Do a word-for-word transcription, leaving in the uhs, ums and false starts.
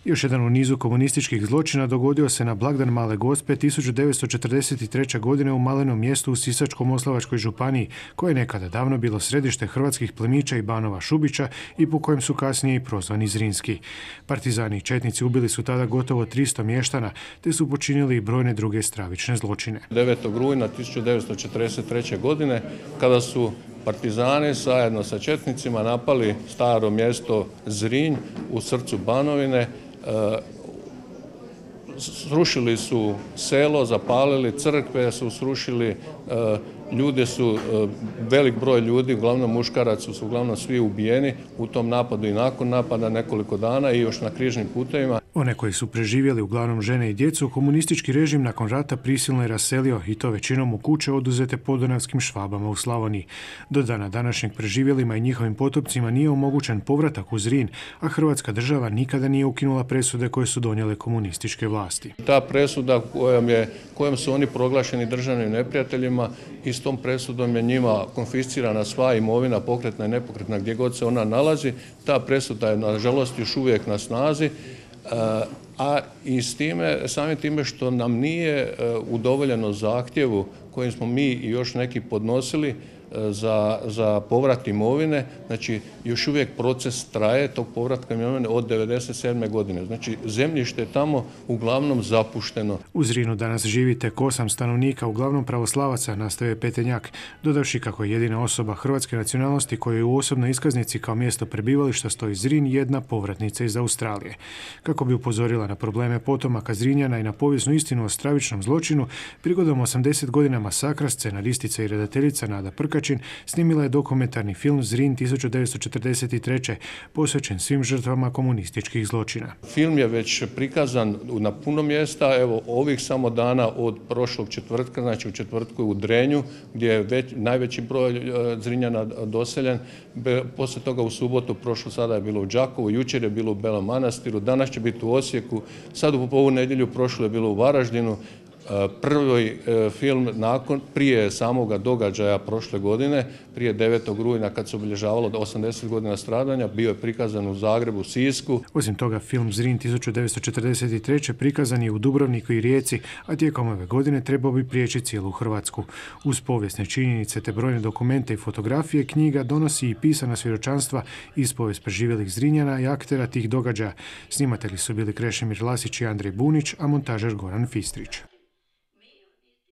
Još jedan u nizu komunističkih zločina dogodio se na blagdan Male Gospe tisuću devetsto četrdeset treće. godine u malenom mjestu u Sisačko-moslavačkoj županiji, koje je nekada davno bilo središte hrvatskih plemića i banova Šubića i po kojem su kasnije i prozvani Zrinski. Partizani i četnici ubili su tada gotovo tristo mještana, te su počinili i brojne druge stravične zločine. devetog rujna tisuću devetsto četrdeset treće. godine, kada su partizani zajedno sa četnicima napali staro mjesto Zrinj u srcu Banovine, srušili su selo, zapalili crkve, su srušili, ljude su, velik broj ljudi, uglavnom muškaraca su uglavnom svi ubijeni u tom napadu i nakon napada nekoliko dana i još na križnim putevima. One koji su preživjeli, uglavnom žene i djecu, komunistički režim nakon rata prisilno je raselio i to većinom u kuće oduzete podunavskim Švabama u Slavoniji. Do dana današnjeg preživjelima i njihovim potopcima nije omogućen povratak u Zrin, a Hrvatska država nikada nije ukinula presude koje su donijele komunističke vlasti. Ta presuda kojom, je, kojom su oni proglašeni državnim neprijateljima i s tom presudom je njima konfiscirana sva imovina, pokretna i nepokretna, gdje god se ona nalazi. Ta presuda je nažalost još uvijek na snazi. A i s time, samim time što nam nije udovoljeno zahtjevu kojim smo mi i još neki podnosili za, za povrat imovine, znači još uvijek proces traje tog povratka imovine od devedeset sedme. godine. Znači zemljište je tamo uglavnom zapušteno. U Zrinu danas živi tek osam stanovnika, uglavnom pravoslavaca, nastavio je Petenjak, dodavši kako je jedina osoba hrvatske nacionalnosti kojoj je u osobnoj iskaznici kao mjesto prebivališta stoji Zrin jedna povratnica iz Australije. Kako bi upozorila na probleme potomaka Zrinjana i na povijesnu istinu o stravičnom zločinu, prigodom osamdeset godina masakra scenaristica i redateljica Nada Prkačin snimila je dokumentarni film Zrin tisuću devetsto četrdeset treće. posvećen svim žrtvama komunističkih zločina. Film je već prikazan na puno mjesta, evo ovih samo dana od prošlog četvrtka, znači u četvrtku u Drenju, gdje je već, najveći broj Zrinjana doseljen. Poslije toga u subotu, prošlo sada je bilo u Đakovu, jučer je bilo u Belom Manastiru, danas će biti u Osijeku, sad u ovu nedjelju prošlo je bilo u Varaždinu. Prvi film nakon, prije samoga događaja prošle godine, prije devetog rujna kad se obilježavalo osamdeset godina stradanja, bio je prikazan u Zagrebu, Sisku. Osim toga, film Zrin tisuću devetsto četrdeset treće. prikazan je u Dubrovniku i Rijeci, a tijekom ove godine trebao bi prijeći cijelu Hrvatsku. Uz povijesne činjenice te brojne dokumente i fotografije, knjiga donosi i pisana svjedočanstva iz povijest preživjelih Zrinjana i aktera tih događaja. Snimatelji su bili Krešimir Lasić i Andrej Bunić, a montažer Goran Fistrić.